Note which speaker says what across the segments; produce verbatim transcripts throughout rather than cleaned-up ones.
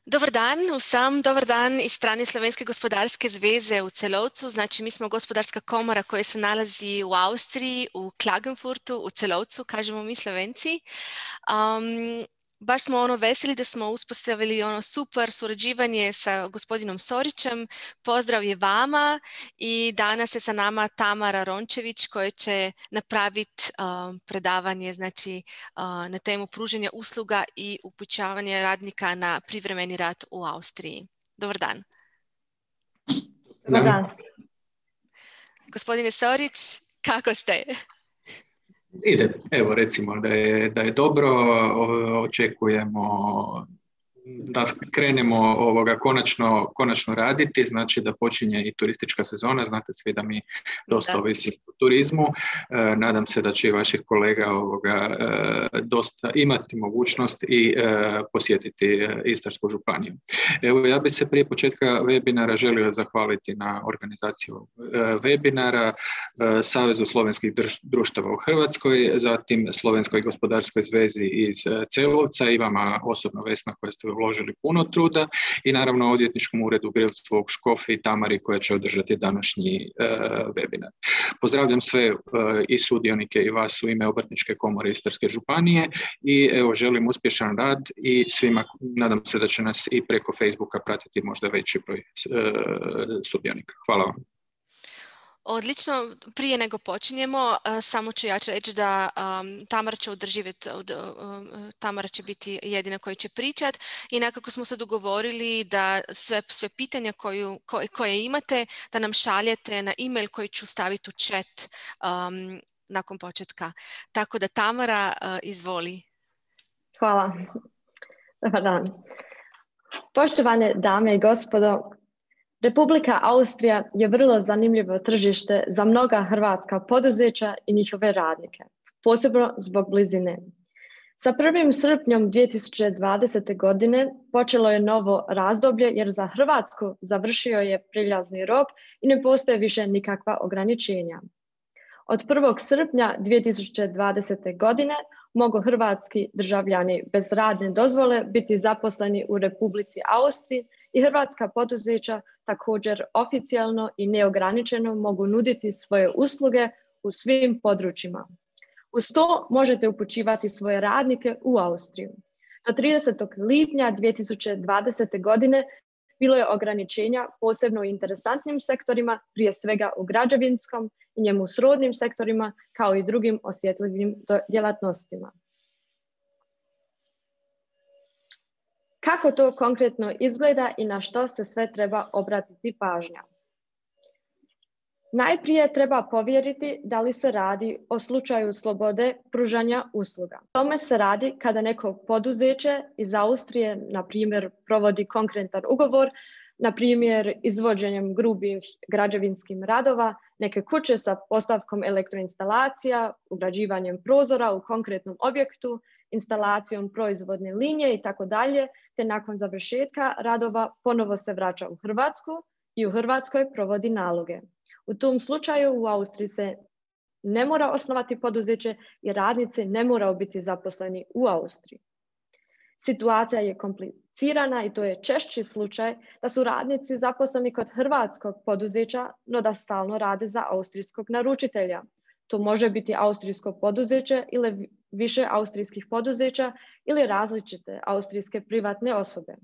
Speaker 1: Dobar dan vsem, dobar dan iz strane Slovenske gospodarske zveze v Celovcu. Znači, mi smo gospodarska komora koja se nalazi u Austriji, u Klagenfurtu, u Celovcu, kažemo mi Slovenci. Um, baš smo ono veseli da smo uspostavili ono super surađivanje sa gospodinom Sorićem. Pozdrav je vama i danas je sa nama Tamara Rončević koja će napraviti um, predavanje znači, uh, na temu pružanja usluga i upućavanja radnika na privremeni rad u Austriji. Dobar dan.
Speaker 2: Dobar dan.
Speaker 1: Gospodine Sorić, kako ste?
Speaker 2: Ide, evo recimo da je, da je dobro, očekujemo da krenemo ovoga konačno, konačno raditi, znači da počinje i turistička sezona, znate svi da mi dosta ovisimo o turizmu, e, nadam se da će i vaših kolega ovoga, e, dosta imati mogućnost i e, posjetiti Istarsku županiju. Evo, ja bih se prije početka webinara želio zahvaliti na organizaciju e, webinara, e, Savezu slovenskih društava u Hrvatskoj, zatim Slovenskoj gospodarskoj zvezi iz Celovca i vama osobno Vesna koja ste uložili puno truda i naravno odvjetničkom uredu Grilstvog Škofi i Tamari koja će održati današnji e, webinar. Pozdravljam sve e, i sudionike i vas u ime Obrtničke komore Istarske županije i evo želim uspješan rad i svima, nadam se da će nas i preko Facebooka pratiti možda veći broj e, sudionika. Hvala vam.
Speaker 1: Odlično, prije nego počinjemo, uh, samo ću ja ću reći da um, Tamara će održivjeti, uh, uh, Tamara će biti jedina koja će pričati i nekako smo se dogovorili da sve, sve pitanja koju, koje, koje imate da nam šaljete na e-mail koji ću staviti u chat um, nakon početka. Tako da Tamara, uh, izvoli.
Speaker 3: Hvala. Dobar dan. Poštovane dame i gospodo, Republika Austrija je vrlo zanimljivo tržište za mnoga hrvatska poduzeća i njihove radnike, posebno zbog blizine. Sa prvim srpnjem dvije tisuće dvadesete. godine počelo je novo razdoblje jer za Hrvatsku završio je prijelazni rok i ne postoje više nikakva ograničenja. Od prvog srpnja dvije tisuće dvadesete. godine mogu hrvatski državljani bez radne dozvole biti zaposleni u Republici Austriji i hrvatska poduzeća također oficijalno i neograničeno mogu nuditi svoje usluge u svim područjima. Uz to možete upućivati svoje radnike u Austriju. Do tridesetog lipnja dvije tisuće dvadesete. godine bilo je ograničenja posebno u interesantnim sektorima, prije svega u građevinskom i njemu srodnim sektorima, kao i drugim osjetljivim djelatnostima. Kako to konkretno izgleda i na što se sve treba obratiti pažnja? Najprije treba povjeriti da li se radi o slučaju slobode pružanja usluga. Tome se radi kada neko poduzeće iz Austrije, na primjer, provodi konkretan ugovor, na primjer izvođenjem grubih građevinskim radova, neke kuće sa postavkom elektroinstalacija, ugrađivanjem prozora u konkretnom objektu, instalacijom proizvodne linije i tako dalje, te nakon završetka radova ponovo se vraća u Hrvatsku i u Hrvatskoj provodi naloge. U tom slučaju u Austriji se ne mora osnovati poduzeće i radnici ne moraju biti zaposleni u Austriji. Situacija je komplicirana i to je češći slučaj da su radnici zaposleni kod hrvatskog poduzeća, no da stalno rade za austrijskog naručitelja. To može biti austrijsko poduzeće ili više austrijskih poduzeća ili različite austrijske privatne osobe.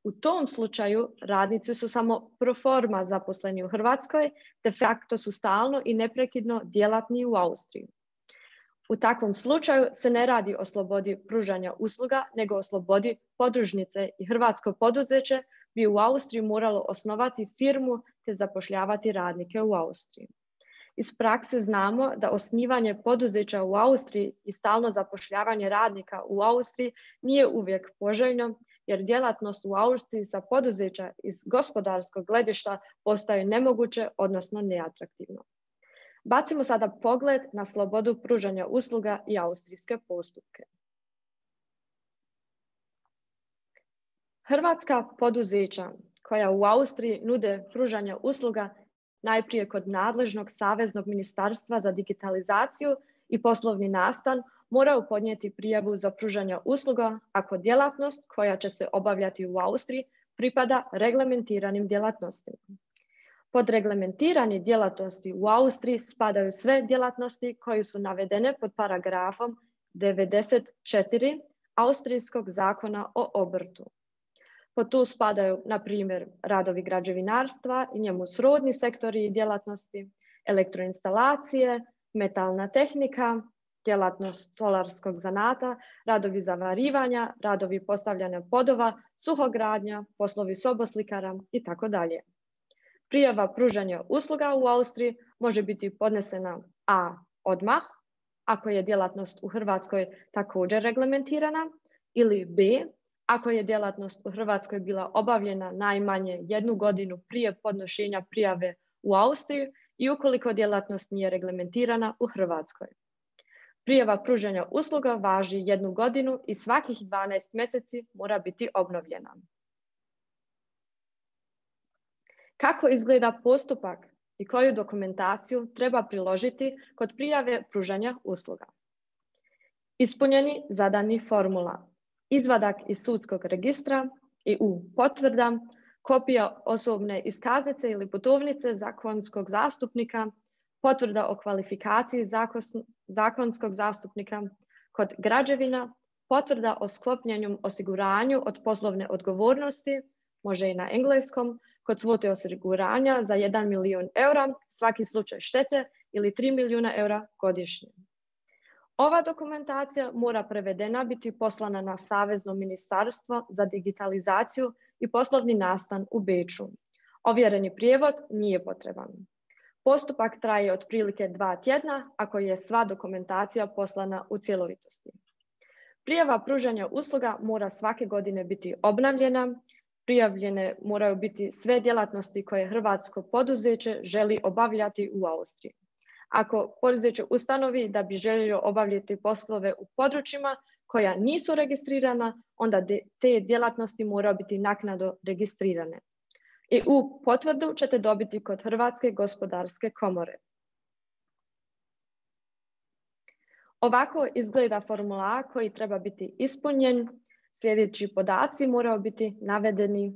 Speaker 3: U tom slučaju radnici su samo pro forma zaposleni u Hrvatskoj, de facto su stalno i neprekidno djelatni u Austriji. U takvom slučaju se ne radi o slobodi pružanja usluga, nego o slobodi podružnice i hrvatsko poduzeće bi u Austriji moralo osnovati firmu te zapošljavati radnike u Austriji. Iz prakse znamo da osnivanje poduzeća u Austriji i stalno zapošljavanje radnika u Austriji nije uvijek poželjno, jer djelatnost u Austriji sa poduzeća iz gospodarskog gledišta postaje nemoguće, odnosno neatraktivno. Bacimo sada pogled na slobodu pružanja usluga i austrijske postupke. Hrvatska poduzeća koja u Austriji nude pružanje usluga najprije kod nadležnog Saveznog ministarstva za digitalizaciju i poslovni nastan moraju podnijeti prijavu za pružanje usluga ako djelatnost koja će se obavljati u Austriji pripada reglementiranim djelatnostima. Pod reglementirani djelatnosti u Austriji spadaju sve djelatnosti koje su navedene pod paragrafom devedeset četiri Austrijskog zakona o obrtu. Pod tu spadaju, na primjer, radovi građevinarstva i njemu srodni sektori i djelatnosti, elektroinstalacije, metalna tehnika, djelatnost stolarskog zanata, radovi zavarivanja, radovi postavljanja podova, suhogradnja, poslovi soboslikara i tako dalje. Prijava pružanja usluga u Austriji može biti podnesena a. odmah, ako je djelatnost u Hrvatskoj također reglementirana, ili b. ako je djelatnost u Hrvatskoj bila obavljena najmanje jednu godinu prije podnošenja prijave u Austriji i ukoliko djelatnost nije reglementirana u Hrvatskoj. Prijava pružanja usluga važi jednu godinu i svakih dvanaest mjeseci mora biti obnovljena. Kako izgleda postupak i koju dokumentaciju treba priložiti kod prijave pružanja usluga? Ispunjeni zadani formula, izvadak iz sudskog registra E U potvrda, kopija osobne iskaznice ili putovnice zakonskog zastupnika, potvrda o kvalifikaciji zakonskog zastupnika kod građevina, potvrda o sklopljenom osiguranju od poslovne odgovornosti, može i na engleskom, kod svote osiguranja za jedan milijun eura, svaki slučaj štete ili tri milijuna eura godišnje. Ova dokumentacija mora prevedena biti poslana na Savezno ministarstvo za digitalizaciju i poslovni nastan u Beču. Ovjereni prijevod nije potreban. Postupak traje otprilike dva tjedna ako je sva dokumentacija poslana u cjelovitosti. Prijava pružanja usluga mora svake godine biti obnavljena. Prijavljene moraju biti sve djelatnosti koje hrvatsko poduzeće želi obavljati u Austriji. Ako poduzeće ustanovi da bi željelo obavljati poslove u područjima koja nisu registrirana, onda te djelatnosti moraju biti naknadno registrirane. E U potvrdu ćete dobiti kod Hrvatske gospodarske komore. Ovako izgleda formular koji treba biti ispunjen. Sljedeći podaci moraju biti navedeni: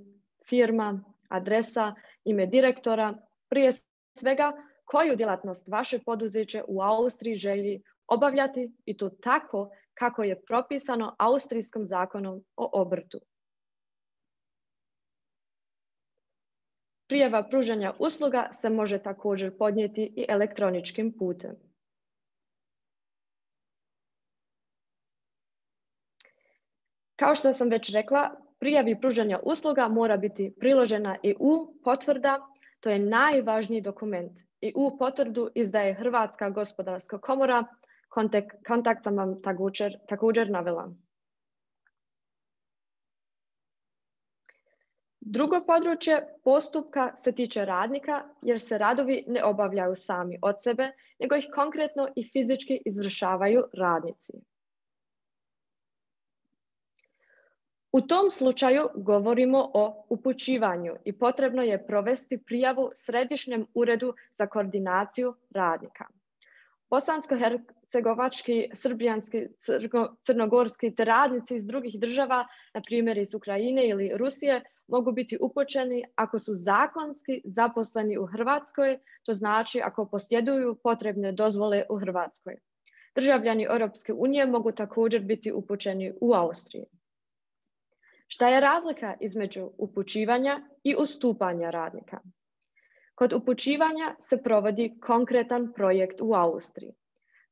Speaker 3: firma, adresa, ime direktora, prije svega koju djelatnost vaše poduzeće u Austriji želi obavljati i to tako kako je propisano Austrijskom zakonom o obrtu. Prijava pružanja usluga se može također podnijeti i elektroničkim putem. Kao što sam već rekla, prijavi pružanja usluga mora biti priložena E U potvrda, to je najvažniji dokument. E U potvrdu izdaje Hrvatska gospodarska komora, kontakt, kontakt sam vam također, također navela. Drugo područje postupka se tiče radnika jer se radovi ne obavljaju sami od sebe, nego ih konkretno i fizički izvršavaju radnici. U tom slučaju govorimo o upućivanju i potrebno je provesti prijavu Središnjem uredu za koordinaciju radnika. Bosansko-hercegovački, srbijanski, crnogorski te radnici iz drugih država, na primjer iz Ukrajine ili Rusije, mogu biti upućeni ako su zakonski zaposleni u Hrvatskoj, to znači ako posjeduju potrebne dozvole u Hrvatskoj. Državljani Europske unije mogu također biti upućeni u Austriji. Šta je razlika između upućivanja i ustupanja radnika? Kod upućivanja se provodi konkretan projekt u Austriji.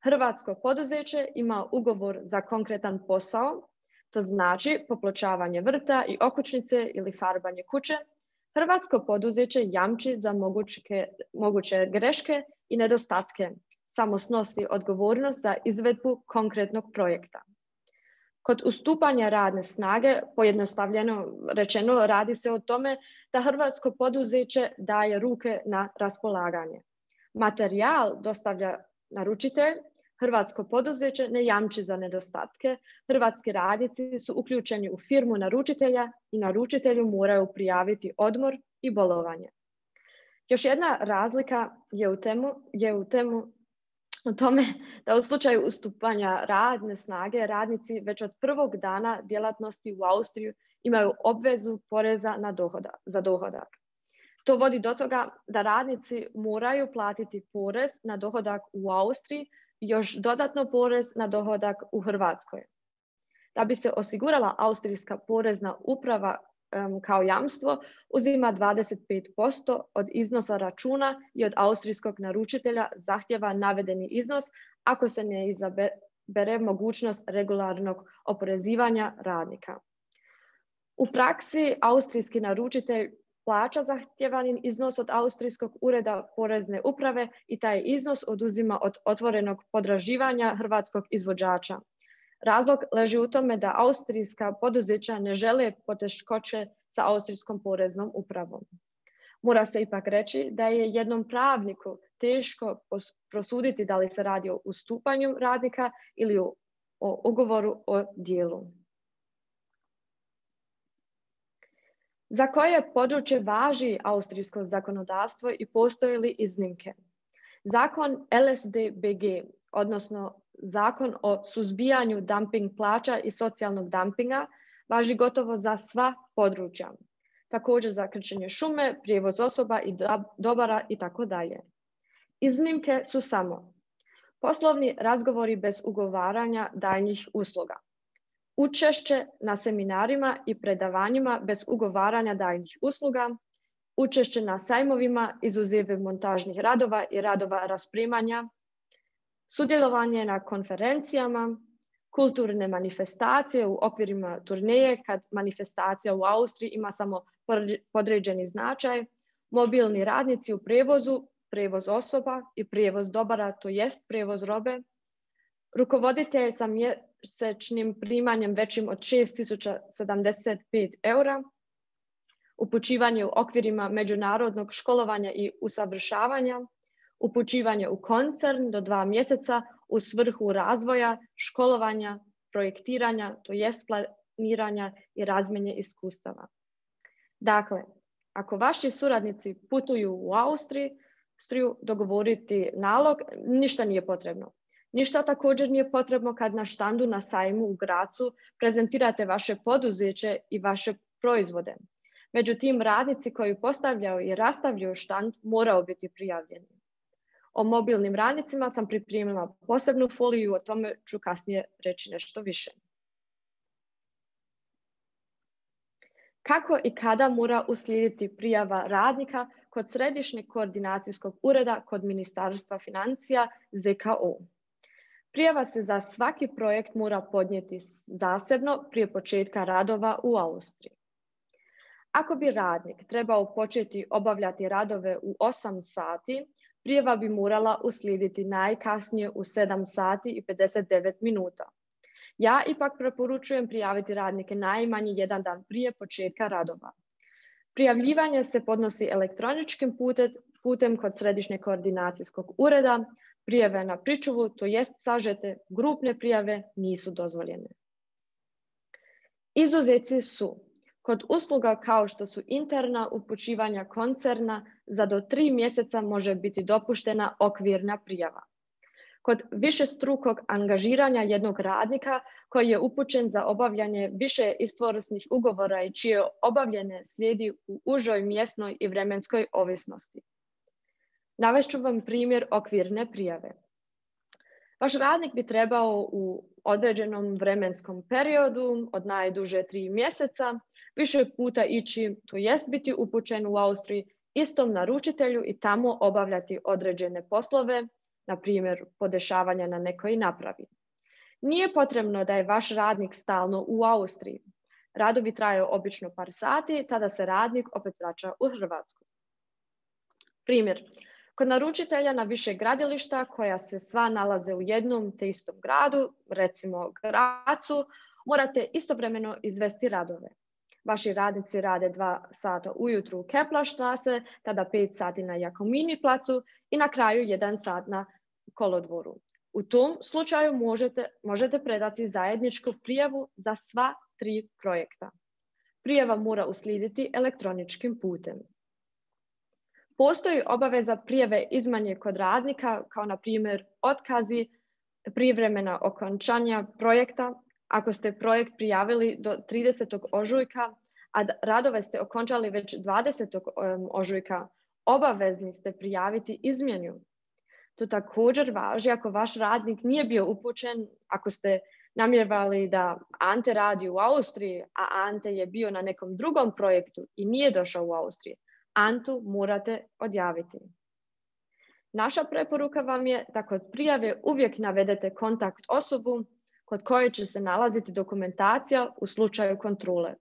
Speaker 3: Hrvatsko poduzeće ima ugovor za konkretan posao, to znači popločavanje vrta i okućnice ili farbanje kuće. Hrvatsko poduzeće jamči za moguće, moguće greške i nedostatke, samo snosi odgovornost za izvedbu konkretnog projekta. Kod ustupanja radne snage, pojednostavljeno rečeno, radi se o tome da hrvatsko poduzeće daje ruke na raspolaganje. Materijal dostavlja naručitelj, hrvatsko poduzeće ne jamči za nedostatke, hrvatski radnici su uključeni u firmu naručitelja i naručitelju moraju prijaviti odmor i bolovanje. Još jedna razlika je u temu, je u temu o tome da u slučaju ustupanja radne snage radnici već od prvog dana djelatnosti u Austriju imaju obvezu poreza na dohodak, za dohodak. To vodi do toga da radnici moraju platiti porez na dohodak u Austriji i još dodatno porez na dohodak u Hrvatskoj. Da bi se osigurala austrijska porezna uprava um, kao jamstvo, uzima dvadeset pet posto od iznosa računa i od austrijskog naručitelja zahtjeva navedeni iznos ako se ne izabere mogućnost regularnog oporezivanja radnika. U praksi austrijski naručitelj plaća zahtjevani iznos od austrijskog ureda porezne uprave i taj iznos oduzima od otvorenog potraživanja hrvatskog izvođača. Razlog leži u tome da austrijska poduzeća ne žele poteškoće sa austrijskom poreznom upravom. Mora se ipak reći da je jednom pravniku teško prosuditi da li se radi o ustupanju radnika ili o, o ugovoru o dijelu. Za koje područje važi austrijsko zakonodavstvo i postoje li iznimke? Zakon L S D B G, odnosno Zakon o suzbijanju dumping plaća i socijalnog dumpinga, važi gotovo za sva područja. Također za krčenje šume, prijevoz osoba i dobara i tako dalje. Iznimke su samo poslovni razgovori bez ugovaranja daljnjih usluga, učešće na seminarima i predavanjima bez ugovaranja daljnjih usluga, učešće na sajmovima izuzev montažnih radova i radova raspremanja, sudjelovanje na konferencijama, kulturne manifestacije u okvirima turneje kad manifestacija u Austriji ima samo podređeni značaj, mobilni radnici u prijevozu, prijevoz osoba i prijevoz dobara, to jest prijevoz robe, rukovoditelj sa mjesečnim primanjem većim od šest tisuća sedamdeset pet eura, upućivanje u okvirima međunarodnog školovanja i usavršavanja, upućivanje u koncern do dva mjeseca u svrhu razvoja, školovanja, projektiranja, to jest planiranja i razmjene iskustava. Dakle, ako vaši suradnici putuju u Austriju dogovoriti nalog, ništa nije potrebno. Ništa također nije potrebno kad na štandu na sajmu u Grazu prezentirate vaše poduzeće i vaše proizvode. Međutim, radnici koji postavljaju i rastavljaju štand moraju biti prijavljeni. O mobilnim radnicima sam pripremila posebnu foliju, o tome ću kasnije reći nešto više. Kako i kada mora uslijediti prijava radnika kod Središnjeg koordinacijskog ureda kod Ministarstva financija Z K O? Prijava se za svaki projekt mora podnijeti zasebno prije početka radova u Austriji. Ako bi radnik trebao početi obavljati radove u osam sati, prijava bi morala uslijediti najkasnije u sedam sati i pedeset devet minuta. Ja ipak preporučujem prijaviti radnike najmanje jedan dan prije početka radova. Prijavljivanje se podnosi elektroničkim putem, putem kod Središnjeg koordinacijskog ureda. Prijave na pričuvu, to jest sažete grupne prijave, nisu dozvoljene. Izuzeci su kod usluga kao što su interna upućivanja koncerna, za do tri mjeseca može biti dopuštena okvirna prijava. Kod višestrukog angažiranja jednog radnika koji je upućen za obavljanje više istvorosnih ugovora i čije obavljene slijedi u užoj mjesnoj i vremenskoj ovisnosti. Navest ću vam primjer okvirne prijave. Vaš radnik bi trebao u određenom vremenskom periodu od najduže tri mjeseca više puta ići, to jest biti upućen u Austriji istom naručitelju i tamo obavljati određene poslove, na primjer podešavanja na nekoj napravi. Nije potrebno da je vaš radnik stalno u Austriji. Radovi traju obično par sati, tada se radnik opet vraća u Hrvatsku. Primjer. Kod naručitelja na više gradilišta koja se sva nalaze u jednom te istom gradu, recimo Grazu, morate istovremeno izvesti radove. Vaši radnici rade dva sata ujutru u Keplerstraße, tada pet sati na Jakomini placu i na kraju jedan sat na kolodvoru. U tom slučaju možete, možete predati zajedničku prijavu za sva tri projekta. Prijava mora uslijediti elektroničkim putem. Postoji obaveza prijave izmjene kod radnika, kao na primjer otkazi, privremena okončanja projekta. Ako ste projekt prijavili do tridesetog ožujka, a radove ste okončali već dvadesetog ožujka, obavezni ste prijaviti izmjenu. To također važi ako vaš radnik nije bio upućen, ako ste namjeravali da Ante radi u Austriji, a Ante je bio na nekom drugom projektu i nije došao u Austriju, Antu morate odjaviti. Naša preporuka vam je da kod prijave uvijek navedete kontakt osobu kod koje će se nalaziti dokumentacija u slučaju kontrole.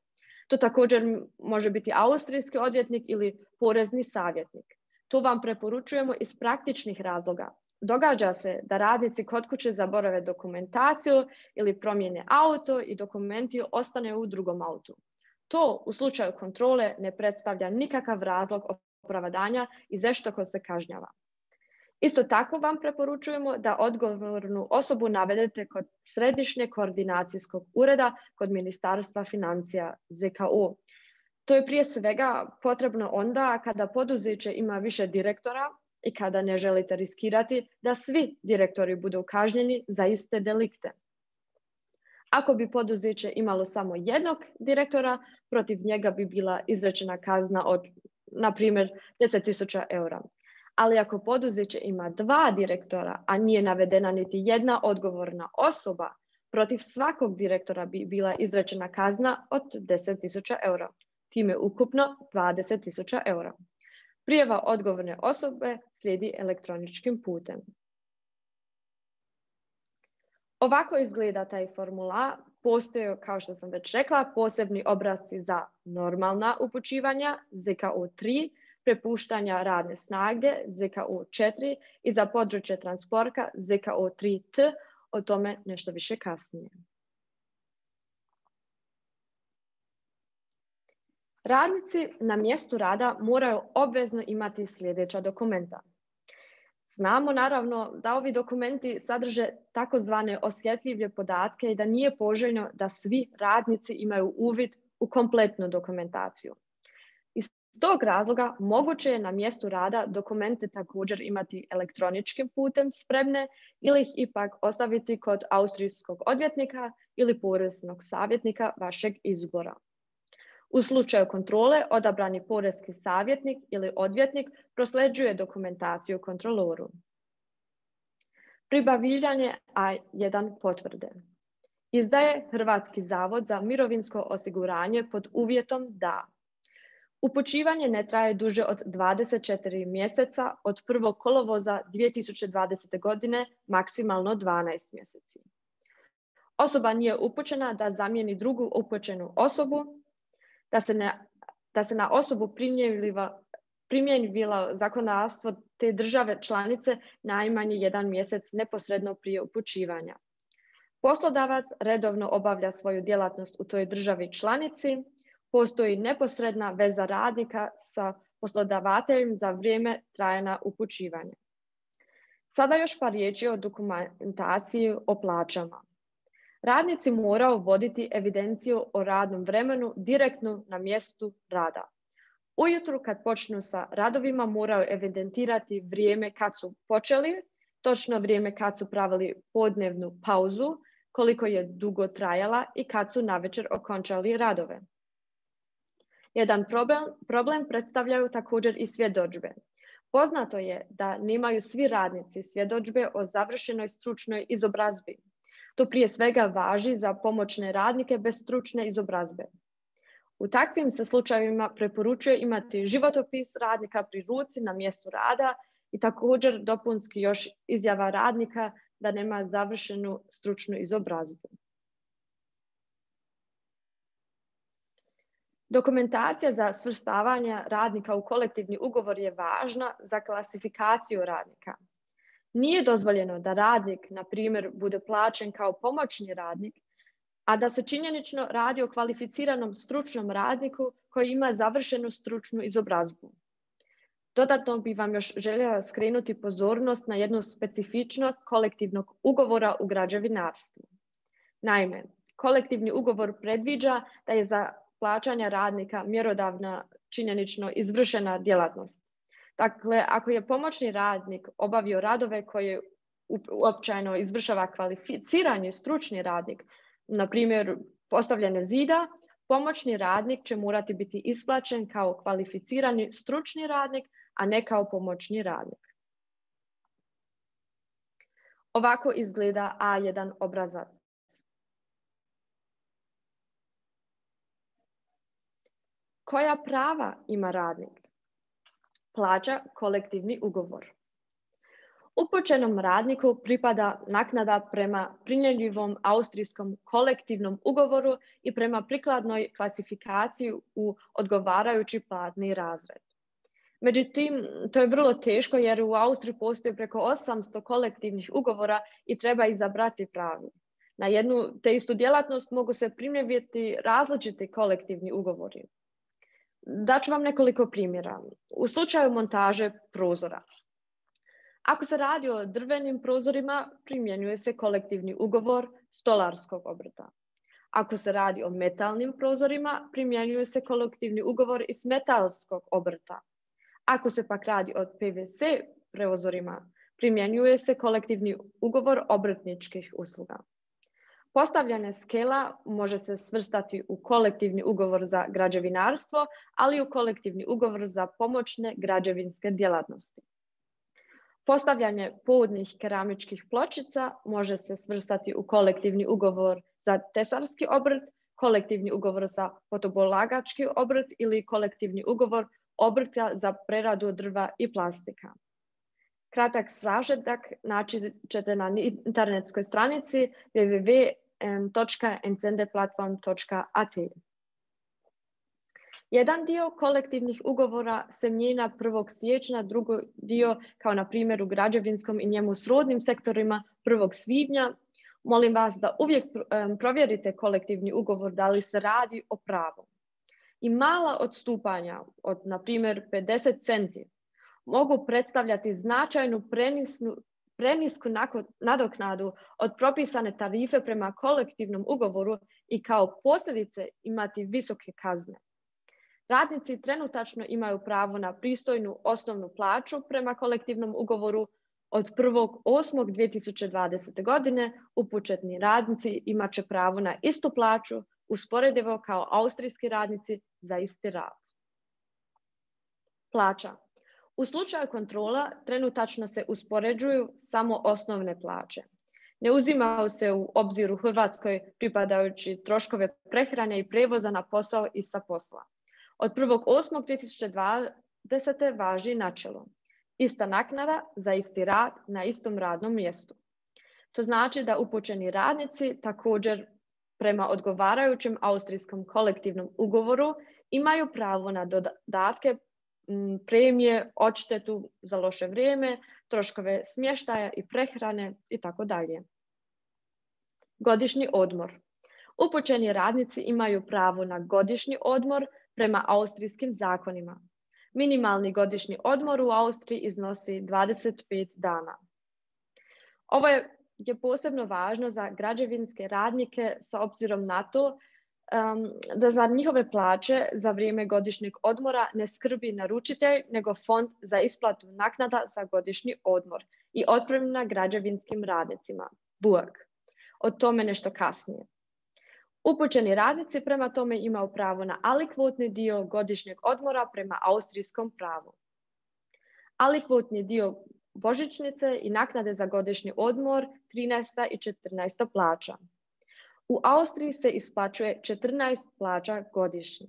Speaker 3: To također može biti austrijski odvjetnik ili porezni savjetnik. To vam preporučujemo iz praktičnih razloga. Događa se da radnici kod kuće zaborave dokumentaciju ili promijene auto i dokumenti ostane u drugom autu. To u slučaju kontrole ne predstavlja nikakav razlog opravdanja i zašto ko se kažnjava. Isto tako vam preporučujemo da odgovornu osobu navedete kod Središnjeg koordinacijskog ureda kod Ministarstva financija Z K O. To je prije svega potrebno onda kada poduzeće ima više direktora i kada ne želite riskirati da svi direktori budu kažnjeni za iste delikte. Ako bi poduzeće imalo samo jednog direktora, protiv njega bi bila izrečena kazna od, na primjer, deset tisuća eura. Ali ako poduzeće ima dva direktora, a nije navedena niti jedna odgovorna osoba, protiv svakog direktora bi bila izrečena kazna od deset tisuća eura. Time ukupno dvadeset tisuća eura. Prijava odgovorne osobe slijedi elektroničkim putem. Ovako izgleda taj formular. Postoje, kao što sam već rekla, posebni obrasci za normalna upućivanja Z K O tri, prepuštanja radne snage Z K O četiri i za područje transporta Z K O tri T, o tome nešto više kasnije. Radnici na mjestu rada moraju obvezno imati sljedeća dokumenta. Znamo naravno da ovi dokumenti sadrže takozvane osjetljive podatke i da nije poželjno da svi radnici imaju uvid u kompletnu dokumentaciju. Iz tog razloga moguće je na mjestu rada dokumente također imati elektroničkim putem spremne ili ih ipak ostaviti kod austrijskog odvjetnika ili poreznog savjetnika vašeg izbora. U slučaju kontrole, odabrani poreski savjetnik ili odvjetnik prosljeđuje dokumentaciju kontroloru. Pribavljanje A jedan potvrde. Izdaje Hrvatski zavod za mirovinsko osiguranje pod uvjetom da upućivanje ne traje duže od dvadeset četiri mjeseca od prvog kolovoza dvije tisuće dvadesete. godine, maksimalno dvanaest mjeseci. Osoba nije upućena da zamijeni drugu upućenu osobu, da se, ne, da se na osobu primjenjivalo zakonodavstvo te države članice najmanje jedan mjesec neposredno prije upućivanja. Poslodavac redovno obavlja svoju djelatnost u toj državi članici, postoji neposredna veza radnika sa poslodavateljem za vrijeme trajanja upućivanja. Sada još par riječi o dokumentaciji o plaćama. Radnici moraju voditi evidenciju o radnom vremenu direktno na mjestu rada. Ujutru kad počnu sa radovima moraju evidentirati vrijeme kad su počeli, točno vrijeme kad su pravili podnevnu pauzu, koliko je dugo trajala i kad su navečer okončali radove. Jedan problem, problem predstavljaju također i svjedodžbe. Poznato je da nemaju svi radnici svjedodžbe o završenoj stručnoj izobrazbi. To prije svega važi za pomoćne radnike bez stručne izobrazbe. U takvim se slučajevima preporučuje imati životopis radnika pri ruci na mjestu rada i također dopunski još izjava radnika da nema završenu stručnu izobrazbu. Dokumentacija za svrstavanje radnika u kolektivni ugovor je važna za klasifikaciju radnika. Nije dozvoljeno da radnik, na primjer, bude plaćen kao pomoćni radnik, a da se činjenično radi o kvalificiranom stručnom radniku koji ima završenu stručnu izobrazbu. Dodatno bih vam još željela skrenuti pozornost na jednu specifičnost kolektivnog ugovora u građevinarstvu. Naime, kolektivni ugovor predviđa da je za plaćanja radnika mjerodavna činjenično izvršena djelatnost. Dakle, ako je pomoćni radnik obavio radove koje uopćeno izvršava kvalificirani stručni radnik, na primjer postavljanje zida, pomoćni radnik će morati biti isplaćen kao kvalificirani stručni radnik, a ne kao pomoćni radnik. Ovako izgleda A jedan obrazac. Koja prava ima radnik? Plaća kolektivni ugovor. Upućenom radniku pripada naknada prema primjenjivom austrijskom kolektivnom ugovoru i prema prikladnoj klasifikaciji u odgovarajući platni razred. Međutim, to je vrlo teško jer u Austriji postoji preko osamsto kolektivnih ugovora i treba izabrati pravi. Na jednu te istu djelatnost mogu se primjenjivati različiti kolektivni ugovori. Daću vam nekoliko primjera. U slučaju montaže prozora. Ako se radi o drvenim prozorima, primjenjuje se kolektivni ugovor stolarskog obrta. Ako se radi o metalnim prozorima, primjenjuje se kolektivni ugovor iz metalskog obrta. Ako se pak radi o P V C prozorima, primjenjuje se kolektivni ugovor obrtničkih usluga. Postavljanje skela može se svrstati u kolektivni ugovor za građevinarstvo, ali i u kolektivni ugovor za pomoćne građevinske djelatnosti. Postavljanje podnih keramičkih pločica može se svrstati u kolektivni ugovor za tesarski obrt, kolektivni ugovor za fotobolagački obrt ili kolektivni ugovor obrta za preradu drva i plastika. Kratak sažetak naći ćete na internetskoj stranici w w w točka encendeplatform točka a t. Jedan dio kolektivnih ugovora se mijenja prvog siječnja, drugi dio, kao na primjer u građevinskom i njemu srodnim sektorima, prvog svibnja. Molim vas da uvijek provjerite kolektivni ugovor da li se radi o pravu. I mala odstupanja od, na primjer, pedeset centi mogu predstavljati značajnu prenisnu, prenisku nadoknadu od propisane tarife prema kolektivnom ugovoru i kao posljedice imati visoke kazne. Radnici trenutačno imaju pravo na pristojnu osnovnu plaću prema kolektivnom ugovoru. Od prvog osmog dvije tisuće dvadesete. godine upućeni radnici imat će pravo na istu plaću usporedivo kao austrijski radnici za isti rad. Plaća. U slučaju kontrola trenutačno se uspoređuju samo osnovne plaće. Ne uzimaju se u obzir u Hrvatskoj pripadajući troškove prehrane i prijevoza na posao i sa posla. Od prvog osmog dvije tisuće dvadesete. važi načelo. Ista naknada za isti rad na istom radnom mjestu. To znači da upućeni radnici također prema odgovarajućem austrijskom kolektivnom ugovoru imaju pravo na dodatke, premije, odštetu za loše vrijeme, troškove smještaja i prehrane itd. Godišnji odmor. Upućeni radnici imaju pravo na godišnji odmor prema austrijskim zakonima. Minimalni godišnji odmor u Austriji iznosi dvadeset pet dana. Ovo je, je posebno važno za građevinske radnike s obzirom na to um, da za njihove plaće za vrijeme godišnjeg odmora ne skrbi naručitelj, nego fond za isplatu naknada za godišnji odmor i otpremnina građevinskim radnicima, B U A K. O tome nešto kasnije. Upućeni radnici prema tome imaju pravo na alikvotni dio godišnjeg odmora prema austrijskom pravu. Alikvotni dio božićnice i naknade za godišnji odmor trinaesta i četrnaesta plaća. U Austriji se isplaćuje četrnaest plaća godišnje.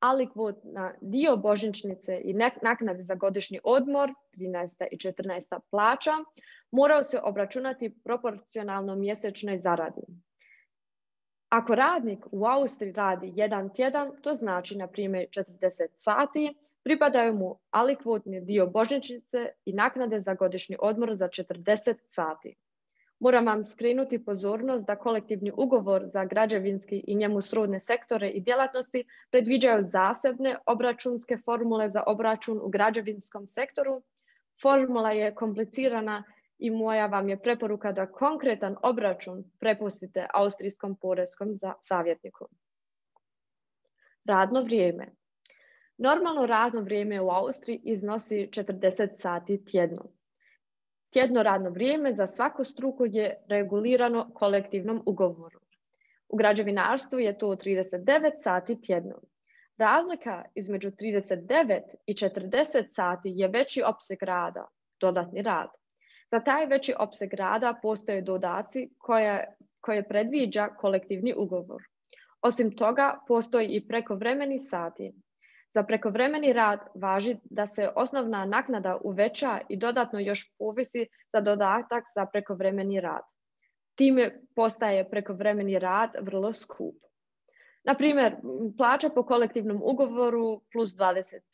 Speaker 3: Alikvotna dio božićnice i naknade za godišnji odmor trinaesta i četrnaesta plaća moraju se obračunati proporcionalno mjesečnoj zaradi. Ako radnik u Austriji radi jedan tjedan, to znači na primjer četrdeset sati, pripadaju mu alikvotni dio božićnice i naknade za godišnji odmor za četrdeset sati. Moram vam skrenuti pozornost da kolektivni ugovor za građevinski i njemu srodne sektore i djelatnosti predviđaju zasebne obračunske formule za obračun u građevinskom sektoru. Formula je komplicirana i moja vam je preporuka da konkretan obračun prepustite austrijskom poreskom savjetniku. Radno vrijeme. Normalno radno vrijeme u Austriji iznosi četrdeset sati tjedno. Tjedno radno vrijeme za svaku struku je regulirano kolektivnom ugovoru. U građevinarstvu je to trideset devet sati tjedno. Razlika između trideset devet i četrdeset sati je veći opseg rada, dodatni rad. Za taj veći opseg rada postoje dodaci koje, koje predviđa kolektivni ugovor. Osim toga, postoji i prekovremeni sati. Za prekovremeni rad važi da se osnovna naknada uveća i dodatno još povisi za dodatak za prekovremeni rad. Time postaje prekovremeni rad vrlo skup. Na primjer, plaća po kolektivnom ugovoru plus dvadeset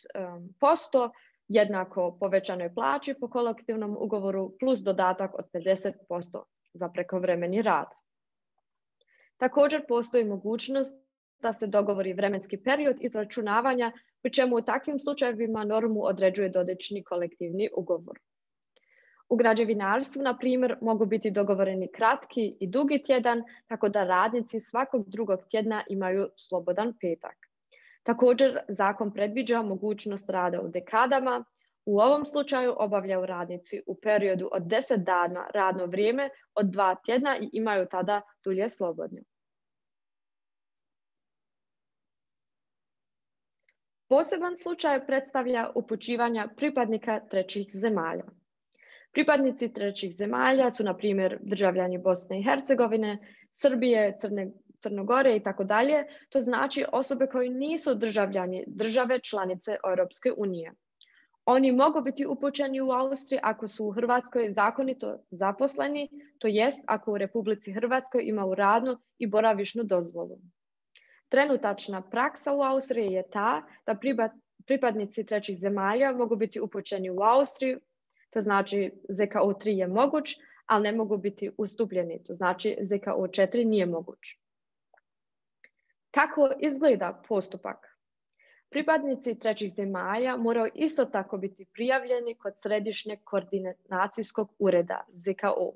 Speaker 3: posto jednako povećanoj plaći po kolektivnom ugovoru plus dodatak od pedeset posto za prekovremeni rad. Također postoji mogućnost da se dogovori vremenski period izračunavanja, pri čemu u takvim slučajevima normu određuje dodatni kolektivni ugovor. U građevinarstvu, na primjer, mogu biti dogovoreni kratki i dugi tjedan, tako da radnici svakog drugog tjedna imaju slobodan petak. Također, zakon predviđa mogućnost rada u dekadama. U ovom slučaju obavljaju radnici u periodu od deset dana radno vrijeme od dva tjedna i imaju tada dulje slobodno. Poseban slučaj predstavlja upućivanja pripadnika trećih zemalja. Pripadnici trećih zemalja su, na primjer, državljani Bosne i Hercegovine, Srbije, Crne, Crnogore i tako dalje. To znači osobe koji nisu državljani države članice Europske unije. Oni mogu biti upućeni u Austriji ako su u Hrvatskoj zakonito zaposleni, to jest ako u Republici Hrvatskoj imaju radnu i boravišnu dozvolu. Trenutačna praksa u Austriji je ta da pripadnici trećih zemalja mogu biti upućeni u Austriju, to znači Z K O tri je moguć, ali ne mogu biti ustupljeni, to znači Z K O četiri nije moguć. Kako izgleda postupak? Pripadnici trećih zemalja moraju isto tako biti prijavljeni kod Središnjeg koordinacijskog ureda Z K O.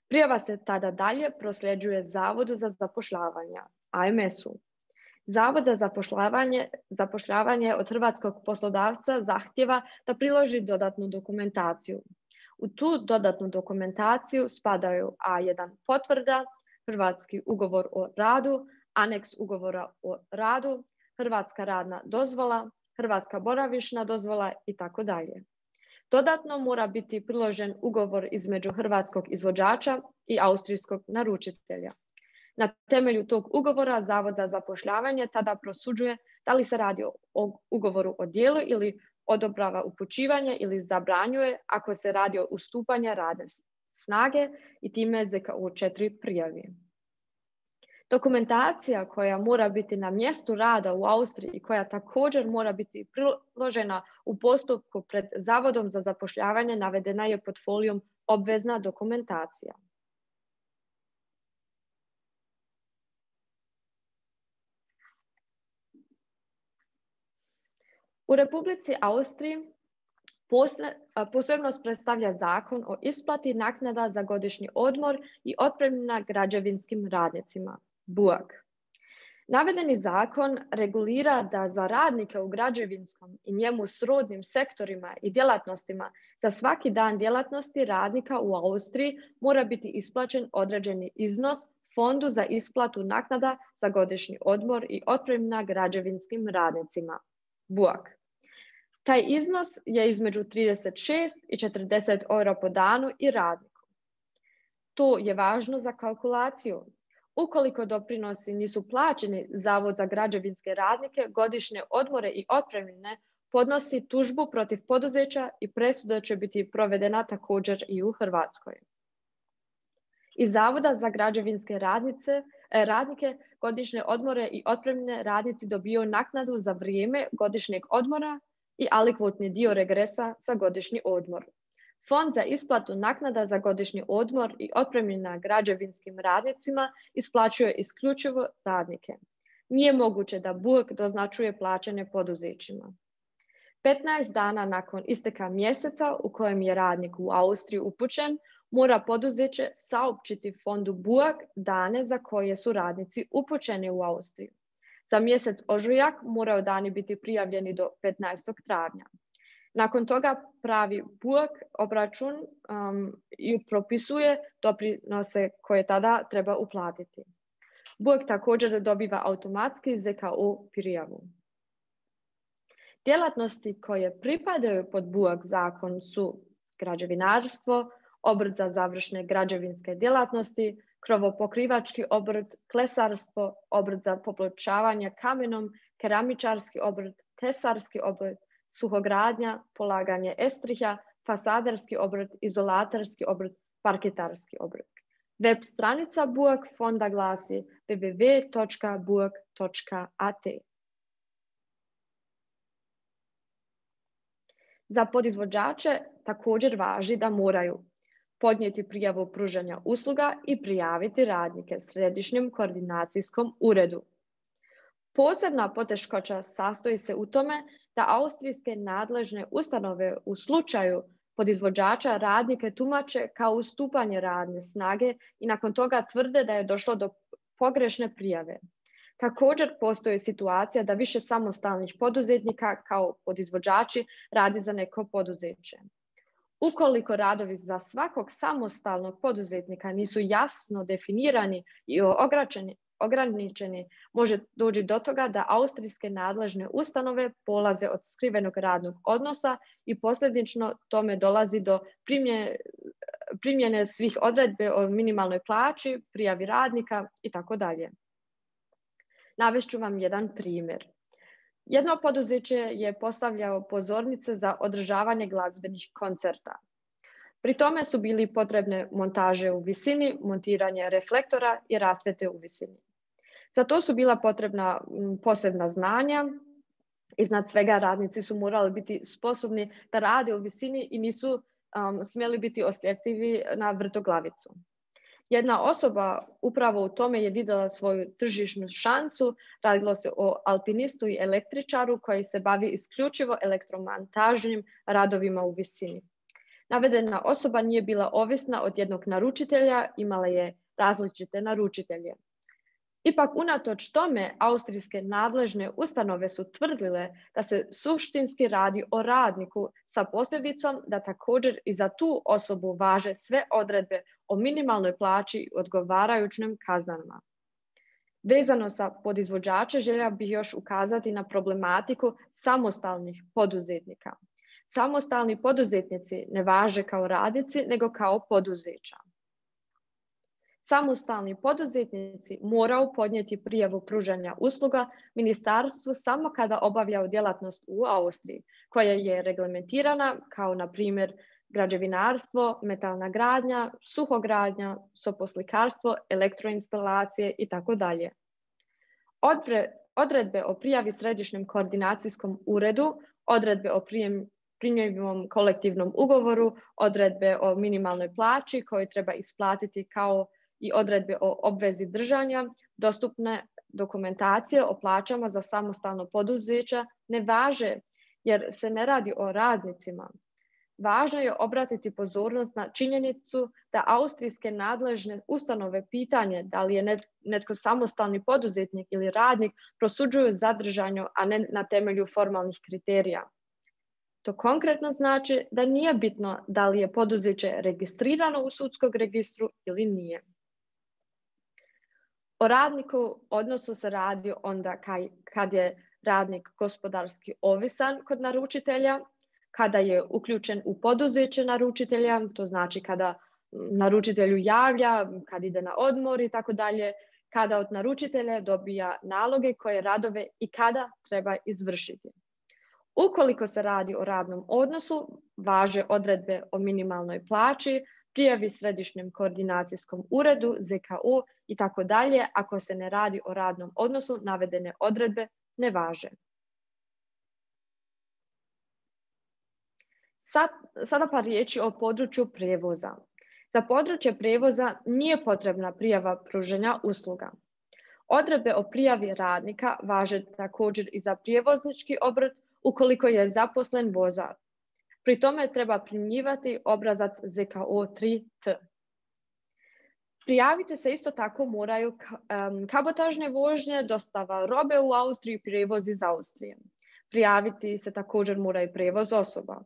Speaker 3: Prijava se tada dalje prosljeđuje Zavodu za zapošljavanje, A M S-u. Zavod za zapošljavanje, zapošljavanje od hrvatskog poslodavca zahtjeva da priloži dodatnu dokumentaciju. U tu dodatnu dokumentaciju spadaju A jedan potvrda, hrvatski ugovor o radu, aneks ugovora o radu, hrvatska radna dozvola, hrvatska boravišna dozvola i tako dalje. Dodatno mora biti priložen ugovor između hrvatskog izvođača i austrijskog naručitelja. Na temelju tog ugovora Zavod za zapošljavanje tada prosuđuje da li se radi o ugovoru o djelu ili odobrava upućivanje ili zabranjuje ako se radi o ustupanju radne snage i time Z K O četiri prijavi. Dokumentacija koja mora biti na mjestu rada u Austriji i koja također mora biti priložena u postupku pred Zavodom za zapošljavanje navedena je pod folijom obvezna dokumentacija. U Republici Austriji posebnost predstavlja zakon o isplati naknada za godišnji odmor i otpremnina građevinskim radnicima, B U A K. Navedeni zakon regulira da za radnike u građevinskom i njemu srodnim sektorima i djelatnostima za svaki dan djelatnosti radnika u Austriji mora biti isplaćen određeni iznos Fondu za isplatu naknada za godišnji odmor i otpremnina građevinskim radnicima, B U A K. Taj iznos je između trideset šest i četrdeset eura po danu i radniku. To je važno za kalkulaciju. Ukoliko doprinosi nisu plaćeni, Zavod za građevinske radnike godišnje odmore i otpremnine podnosi tužbu protiv poduzeća i presuda će biti provedena također i u Hrvatskoj. Iz Zavoda za građevinske radnice, radnike godišnje odmore i otpremnine radnici dobiju naknadu za vrijeme godišnjeg odmora i alikvotni dio regresa za godišnji odmor. Fond za isplatu naknada za godišnji odmor i otpremnina građevinskim radnicima isplaćuje isključivo radnike. Nije moguće da B U A K doznačuje plaćanje poduzećima. petnaest dana nakon isteka mjeseca u kojem je radnik u Austriji upućen, mora poduzeće saopćiti fondu B U A K dane za koje su radnici upućeni u Austriju. Za mjesec ožujak moraju dani biti prijavljeni do petnaestog travnja. Nakon toga pravi B U A K obračun um, i propisuje doprinose koje tada treba uplatiti. B U A K također dobiva automatski Z K U prijavu. Djelatnosti koje pripadaju pod B U A K zakon su građevinarstvo, obrt za završne građevinske djelatnosti, krovopokrivački obrt, klesarstvo, obrt za popločavanje kamenom, keramičarski obrt, tesarski obrt, suhogradnja, polaganje estriha, fasaderski obrt, izolatorski obrt, parketarski obrt. Web stranica B U A K fonda glasi w w w točka b u a k točka a t. Za podizvođače također važi da moraju podnijeti prijavu pružanja usluga i prijaviti radnike Središnjem koordinacijskom uredu. Posebna poteškoća sastoji se u tome da austrijske nadležne ustanove u slučaju podizvođača radnike tumače kao ustupanje radne snage i nakon toga tvrde da je došlo do pogrešne prijave. Također postoji situacija da više samostalnih poduzetnika kao podizvođači radi za neko poduzeće. Ukoliko radovi za svakog samostalnog poduzetnika nisu jasno definirani i ograničeni, može doći do toga da austrijske nadležne ustanove polaze od skrivenog radnog odnosa i posljedično tome dolazi do primjene, primjene svih odredbe o minimalnoj plaći, prijavi radnika i tako dalje. Navešću vam jedan primjer. Jedno poduzeće je postavljao pozornice za održavanje glazbenih koncerta. Pri tome su bili potrebne montaže u visini, montiranje reflektora i rasvjete u visini. Za to su bila potrebna posebna znanja. Iznad svega radnici su morali biti sposobni da rade u visini i nisu um, smjeli biti osjetljivi na vrtoglavicu. Jedna osoba upravo u tome je vidjela svoju tržišnu šansu. Radilo se o alpinistu i električaru koji se bavi isključivo elektromontažnim radovima u visini. Navedena osoba nije bila ovisna od jednog naručitelja, imala je različite naručitelje. Ipak, unatoč tome, austrijske nadležne ustanove su tvrdile da se suštinski radi o radniku sa posljedicom da također i za tu osobu važe sve odredbe o minimalnoj plaći i odgovarajućim kaznama. Vezano sa podizvođače željela bih još ukazati na problematiku samostalnih poduzetnika. Samostalni poduzetnici ne važe kao radnici, nego kao poduzeća. Samostalni poduzetnici moraju podnijeti prijavu pružanja usluga ministarstvu samo kada obavljaju djelatnost u Austriji, koja je reglementirana kao na primjer građevinarstvo, metalna gradnja, suhogradnja, soposlikarstvo, elektroinstalacije i tako dalje. Odredbe o prijavi Središnjem koordinacijskom uredu, odredbe o prijem primjenjivom kolektivnom ugovoru, odredbe o minimalnoj plaći koju treba isplatiti kao i odredbe o obvezi držanja, dostupne dokumentacije o plaćama za samostalno poduzeća ne važe jer se ne radi o radnicima. Važno je obratiti pozornost na činjenicu da austrijske nadležne ustanove pitanje da li je netko samostalni poduzetnik ili radnik prosuđuju zadržanju, a ne na temelju formalnih kriterija. To konkretno znači da nije bitno da li je poduzeće registrirano u sudskom registru ili nije. O radniku odnosu se radi onda kad je radnik gospodarski ovisan kod naručitelja, kada je uključen u poduzeće naručitelja, to znači kada naručitelju javlja, kad ide na odmor i tako dalje, kada od naručitelja dobija naloge koje radove i kada treba izvršiti. Ukoliko se radi o radnom odnosu, važe odredbe o minimalnoj plaći, prijavi Središnjem koordinacijskom uredu, Z K U i tako dalje. Ako se ne radi o radnom odnosu, navedene odredbe ne važe. Sad, sada par riječi o području prijevoza. Za područje prijevoza nije potrebna prijava pružanja usluga. Odredbe o prijavi radnika važe također i za prijevoznički obrt ukoliko je zaposlen vozač. Pri tome treba primjenjivati obrazac Z K O tri T. Prijaviti se isto tako moraju um, kabotažne vožnje, dostava robe u Austriji, prijevoz iz Austrije. Prijaviti se također mora i prijevoz osoba.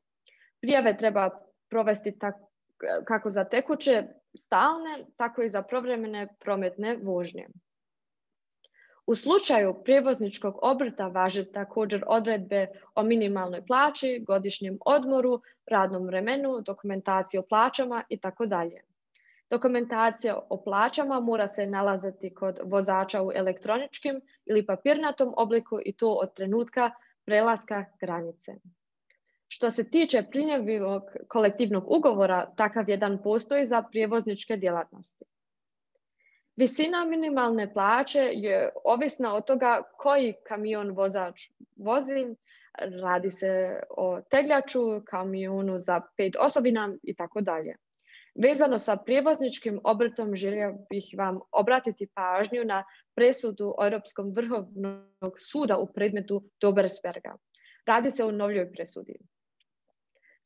Speaker 3: Prijave treba provesti tak, kako za tekuće, stalne, tako i za povremene prometne vožnje. U slučaju prijevozničkog obrta važe također odredbe o minimalnoj plaći, godišnjem odmoru, radnom vremenu, dokumentaciji o plaćama itd. Dokumentacija o plaćama mora se nalaziti kod vozača u elektroničkim ili papirnatom obliku i to od trenutka prelaska granice. Što se tiče primjenjivog kolektivnog ugovora, takav jedan postoji za prijevozničke djelatnosti. Visina minimalne plaće je ovisna od toga koji kamion vozač vozi. Radi se o tegljaču, kamionu za pet osobina i tako dalje. Vezano sa prijevozničkim obrtom želio bih vam obratiti pažnju na presudu Europskog vrhovnog suda u predmetu Dobersberga. Radi se o novljoj presudi.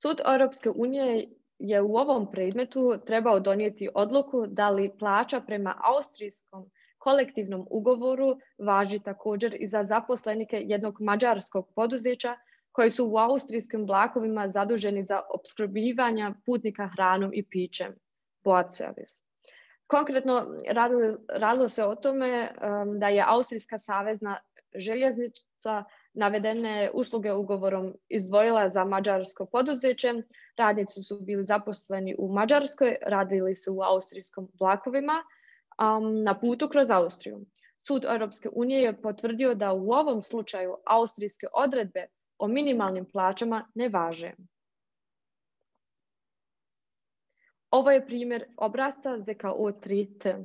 Speaker 3: Sud Europske unije je u ovom predmetu trebao donijeti odluku da li plaća prema austrijskom kolektivnom ugovoru važi također i za zaposlenike jednog mađarskog poduzeća koji su u austrijskim vlakovima zaduženi za opskrbljivanje putnika hranom i pićem, boat service. Konkretno radilo, radilo se o tome um, da je Austrijska savezna željeznica navedene usluge ugovorom izdvojila za mađarsko poduzeće. Radnici su bili zaposleni u Mađarskoj, radili su u austrijskim vlakovima um, na putu kroz Austriju. Sud Europske unije je potvrdio da u ovom slučaju austrijske odredbe o minimalnim plaćama ne važe. Ovo je primjer obrasca Z K O tri T.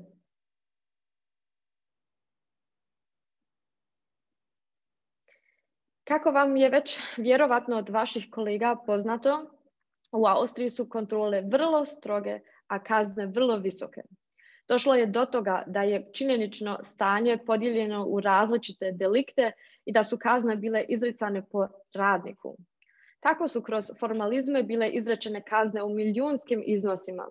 Speaker 3: Kako vam je već vjerovatno od vaših kolega poznato, u Austriji su kontrole vrlo stroge, a kazne vrlo visoke. Došlo je do toga da je činjenično stanje podijeljeno u različite delikte i da su kazne bile izricane po radniku. Tako su kroz formalizme bile izrečene kazne u milijunskim iznosima.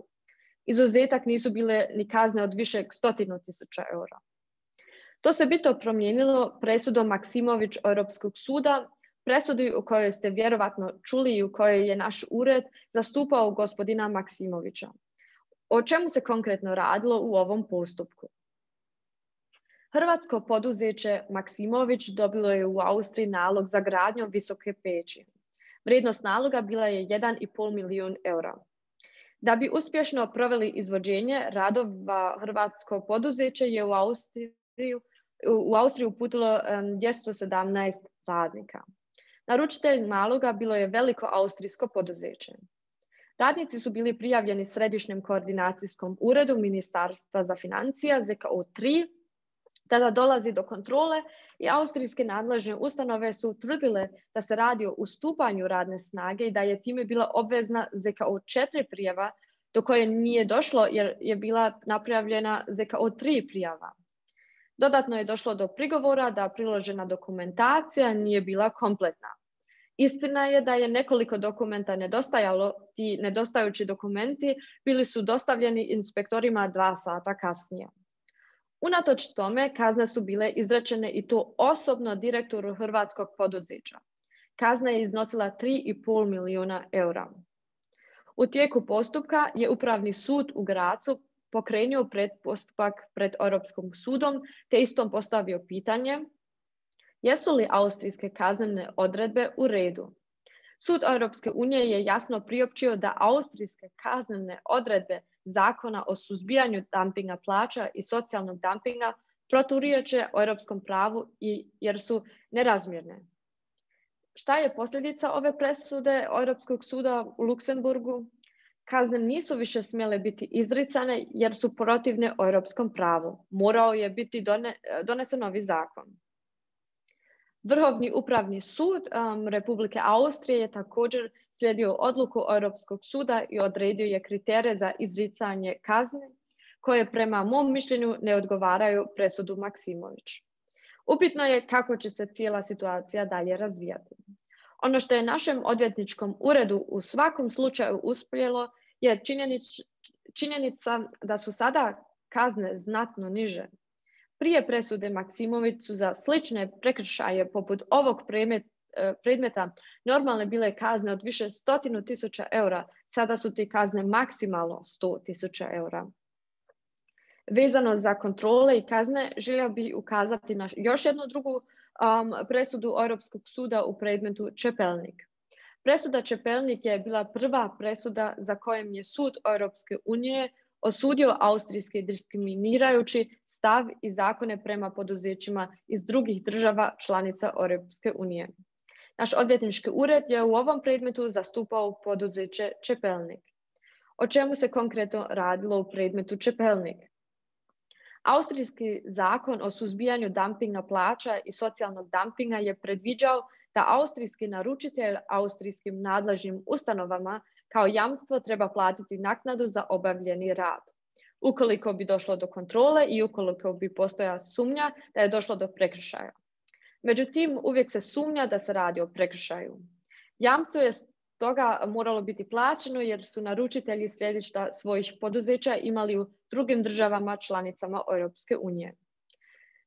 Speaker 3: Izuzetak nisu bile ni kazne od višeg stotinu tisuća eura. To se bitno promijenilo presudom Maksimović Europskog suda, presudi u kojoj ste vjerovatno čuli i u kojoj je naš ured zastupao gospodina Maksimovića. O čemu se konkretno radilo u ovom postupku? Hrvatsko poduzeće Maksimović dobilo je u Austriji nalog za gradnju visoke peći. Vrijednost naloga bila je jedan i pol milijun eura. Da bi uspješno proveli izvođenje radova, hrvatsko poduzeće je u Austriju, u Austriju uputilo dvjesto sedamnaest radnika. Naručitelj naloga bilo je veliko austrijsko poduzeće. Radnici su bili prijavljeni Središnjem koordinacijskom uredu Ministarstva za financija Z K O tri. Tada dolazi do kontrole i austrijske nadležne ustanove su utvrdile da se radi o ustupanju radne snage i da je time bila obvezna Z K O četiri prijava, do koje nije došlo jer je bila napravljena Z K O tri prijava. Dodatno je došlo do prigovora da priložena dokumentacija nije bila kompletna. Istina je da je nekoliko dokumenta nedostajalo, ti nedostajući dokumenti bili su dostavljeni inspektorima dva sata kasnije. Unatoč tome, kazne su bile izrečene i to osobno direktoru hrvatskog poduzeća. Kazna je iznosila tri i pol milijuna eura. U tijeku postupka je Upravni sud u Gracu pokrenuo predpostupak pred Europskim sudom te istom postavio pitanje jesu li austrijske kaznene odredbe u redu. Sud Europske unije je jasno priopćio da austrijske kaznene odredbe Zakona o suzbijanju dumpinga plaća i socijalnog dumpinga proturječe europskom pravu i jer su nerazmjerne. Šta je posljedica ove presude Europskog suda u Luksemburgu? Kazne nisu više smjele biti izricane jer su protivne europskom pravu. Morao je biti done, donesen novi zakon. Vrhovni upravni sud um, Republike Austrije je također slijedio odluku Europskog suda i odredio je kriterije za izricanje kazne koje prema mom mišljenju ne odgovaraju presudu Maksimović. Upitno je kako će se cijela situacija dalje razvijati. Ono što je našem odvjetničkom uredu u svakom slučaju uspjelo je činjenic, činjenica da su sada kazne znatno niže. Prije presude Maksimović su za slične prekršaje poput ovog predmeta normalne bile kazne od više stotinu tisuća eura, sada su te kazne maksimalno sto tisuća eura. Vezano za kontrole i kazne, želio bih ukazati na još jednu drugu um, presudu Europskog suda u predmetu Čepelnik. Presuda Čepelnik je bila prva presuda za kojem je sud Europske unije osudio austrijski diskriminirajući stav i zakone prema poduzećima iz drugih država članica Europske unije. Naš odvjetnički ured je u ovom predmetu zastupao poduzeće Čepelnik. O čemu se konkretno radilo u predmetu Čepelnik? Austrijski zakon o suzbijanju dumpinga plaća i socijalnog dumpinga je predviđao da austrijski naručitelj austrijskim nadležnim ustanovama kao jamstvo treba platiti naknadu za obavljeni rad. Ukoliko bi došlo do kontrole i ukoliko bi postojala sumnja da je došlo do prekršaja. Međutim, uvijek se sumnja da se radi o prekršaju. Jamstvo je stoga moralo biti plaćeno jer su naručitelji središta svojih poduzeća imali u drugim državama članicama Europske unije.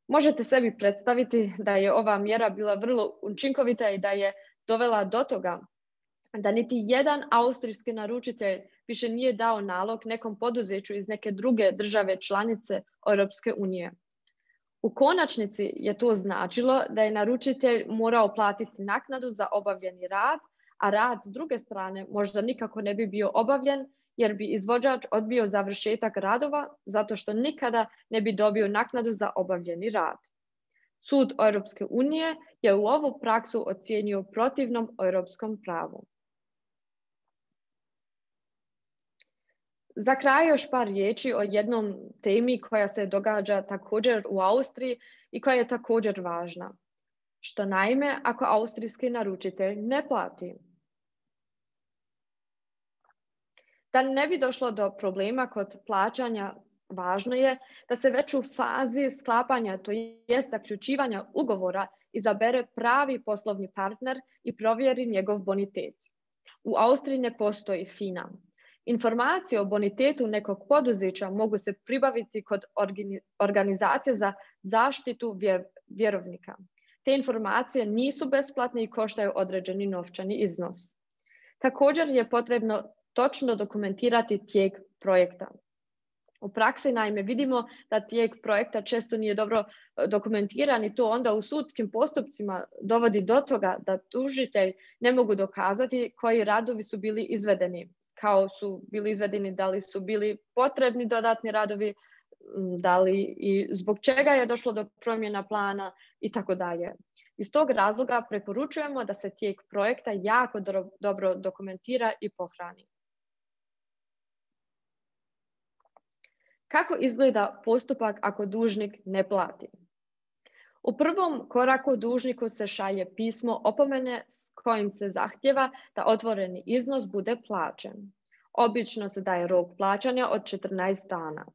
Speaker 3: Možete sebi predstaviti da je ova mjera bila vrlo učinkovita i da je dovela do toga da niti jedan austrijski naručitelj više nije dao nalog nekom poduzeću iz neke druge države članice Europske unije. U konačnici je to značilo da je naručitelj morao platiti naknadu za obavljeni rad, a rad s druge strane možda nikako ne bi bio obavljen jer bi izvođač odbio završetak radova zato što nikada ne bi dobio naknadu za obavljeni rad. Sud Europske unije je u ovu praksu ocijenio protivnom europskom pravu. Za kraj još par riječi o jednom temi koja se događa također u Austriji i koja je također važna. Što naime, ako austrijski naručitelj ne plati? Da ne bi došlo do problema kod plaćanja, važno je da se već u fazi sklapanja, to jest zaključivanja ugovora, izabere pravi poslovni partner i provjeri njegov bonitet. U Austriji ne postoji FINA. Informacije o bonitetu nekog poduzeća mogu se pribaviti kod organizacije za zaštitu vjerovnika. Te informacije nisu besplatne i koštaju određeni novčani iznos. Također je potrebno točno dokumentirati tijek projekta. U praksi naime vidimo da tijek projekta često nije dobro dokumentiran i to onda u sudskim postupcima dovodi do toga da tužitelj ne mogu dokazati koji radovi su bili izvedeni, kao su bili izvedeni, da li su bili potrebni dodatni radovi, da li i zbog čega je došlo do promjena plana i tako dalje. Iz tog razloga preporučujemo da se tijek projekta jako dobro dokumentira i pohrani. Kako izgleda postupak ako dužnik ne plati? U prvom koraku dužniku se šalje pismo opomene s kojim se zahtjeva da otvoreni iznos bude plaćen. Obično se daje rok plaćanja od četrnaest dana.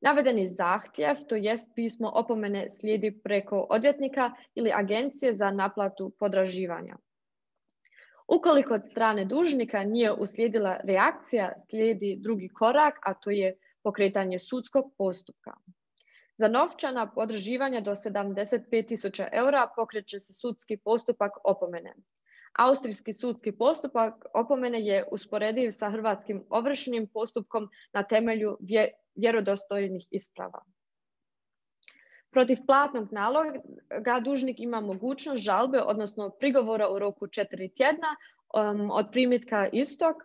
Speaker 3: Navedeni zahtjev, to jest pismo opomene, slijedi preko odvjetnika ili agencije za naplatu potraživanja. Ukoliko od strane dužnika nije uslijedila reakcija, slijedi drugi korak, a to je pokretanje sudskog postupka. Za novčana potraživanja do sedamdeset pet tisuća eura pokreće se sudski postupak opomene. Austrijski sudski postupak opomene je usporediv sa hrvatskim ovršnim postupkom na temelju vjerodostojnih isprava. Protiv platnog naloga dužnik ima mogućnost žalbe, odnosno prigovora u roku četiri tjedna um, od primitka istog.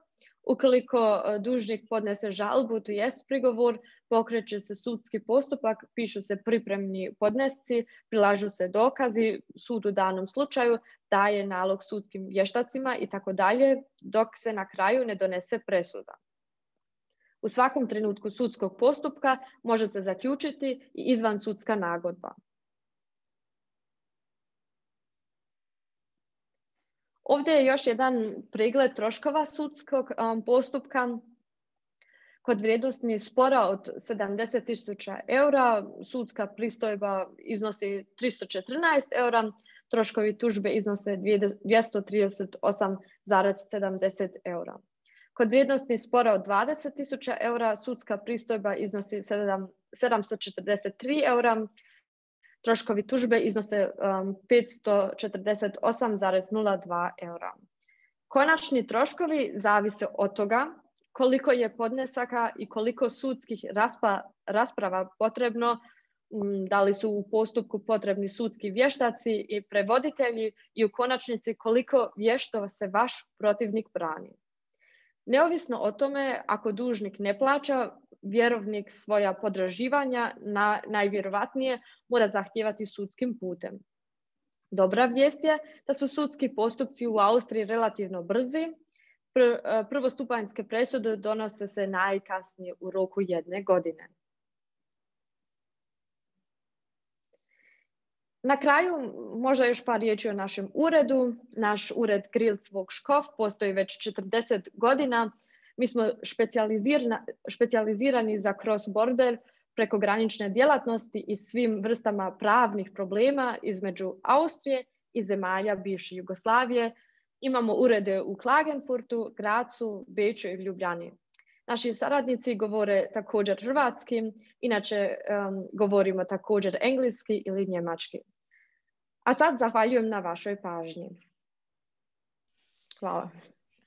Speaker 3: Ukoliko dužnik podnese žalbu, to jest prigovor, pokreće se sudski postupak, pišu se pripremni podnesci, prilažu se dokazi, sud u danom slučaju daje nalog sudskim vještacima i tako dalje, dok se na kraju ne donese presuda. U svakom trenutku sudskog postupka može se zaključiti i izvansudska nagodba. Ovdje je još jedan pregled troškova sudskog um, postupka. Kod vrijednosti spora od sedamdeset tisuća eura sudska pristojba iznosi tristo četrnaest eura, troškovi tužbe iznose dvjesto trideset osam zarez sedamdeset eura. Kod vrijednosti spora od dvadeset tisuća eura sudska pristojba iznosi sedamsto četrdeset tri eura, troškovi tužbe iznose um, petsto četrdeset osam zarez nula dva eura. Konačni troškovi zavise od toga koliko je podnesaka i koliko sudskih raspa, rasprava potrebno, da li su u postupku potrebni sudski vještaci i prevoditelji i u konačnici koliko vješto se vaš protivnik brani. Neovisno o tome, ako dužnik ne plaća, vjerovnik svoja potraživanja na, najvjerovatnije mora zahtijevati sudskim putem. Dobra vijest je da su sudski postupci u Austriji relativno brzi. Prvostupanjske presude donose se najkasnije u roku jedne godine. Na kraju, možda još par riječi o našem uredu. Naš ured Grilsvog Škof postoji već četrdeset godina. Mi smo specijalizirani za cross-border, prekogranične djelatnosti i svim vrstama pravnih problema između Austrije i zemalja bivše Jugoslavije. Imamo urede u Klagenfurtu, Grazu, Beču i Ljubljani. Naši saradnici govore također hrvatski, inače um, govorimo također engleski ili njemački. A sad zahvaljujem na vašoj pažnji. Hvala.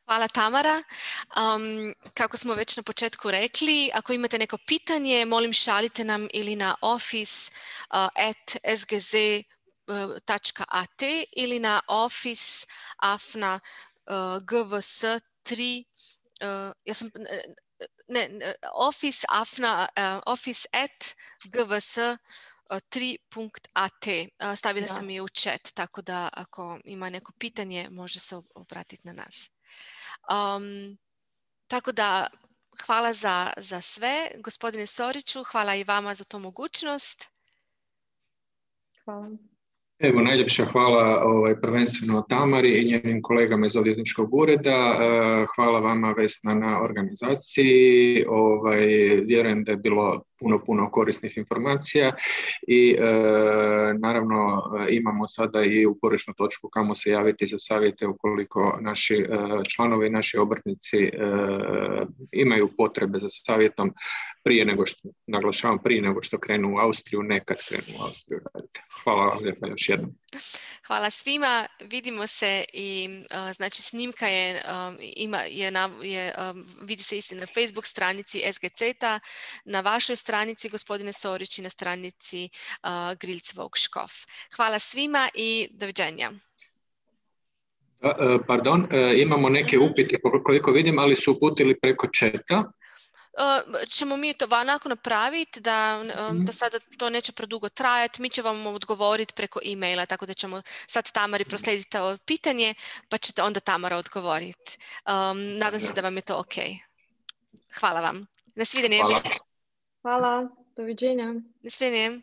Speaker 1: Hvala Tamara. Um, kako smo već na početku rekli, ako imate neko pitanje, molim šalite nam ili na office uh, at s g z dot a t ili na office afna uh, g v s tri uh, ja sam ne, ne office afna uh, office at g v s tri punkt a t. Uh, stavila da. sam je u chat, tako da ako ima neko pitanje može se obratiti na nas. Um, tako da hvala za, za sve. Gospodine Soriću, hvala i vama za tu mogućnost.
Speaker 3: Hvala.
Speaker 2: Evo, najljepša hvala ovaj, prvenstveno Tamari i njenim kolegama iz odvjetničkog ureda. Hvala vama, Vesna, na organizaciji. Ovaj, vjerujem da je bilo puno, puno korisnih informacija i e, naravno imamo sada i uporišnu točku kamo se javiti za savjete ukoliko naši e, članovi i naši obrtnici e, imaju potrebe za savjetom prije nego što, naglašavam, prije nego što krenu u Austriju, nekad krenu u Austriju raditi. Hvala vam lijepa još jednom.
Speaker 1: Hvala svima, vidimo se i uh, znači snimka je, um, ima, je, na, je um, vidi se isti na Facebook stranici S G C T-a, na vašoj stranici gospodine Sorić i na stranici uh, Grilsvog Škof. Hvala svima i doviđenja.
Speaker 2: Uh, pardon, uh, imamo neke mm-hmm. upite koliko vidim, ali su uputili preko četa.
Speaker 1: Uh, ćemo mi to onako napraviti da, um, da sada to neće predugo trajati, mi ćemo vam odgovoriti preko e-maila, tako da ćemo sad Tamari proslijediti to pitanje, pa ćete onda Tamara odgovoriti. Um, nadam se da vam je to ok. Hvala vam. Na svidenje.
Speaker 2: Hvala.
Speaker 3: Hvala. Doviđenja.
Speaker 1: Na svidenje.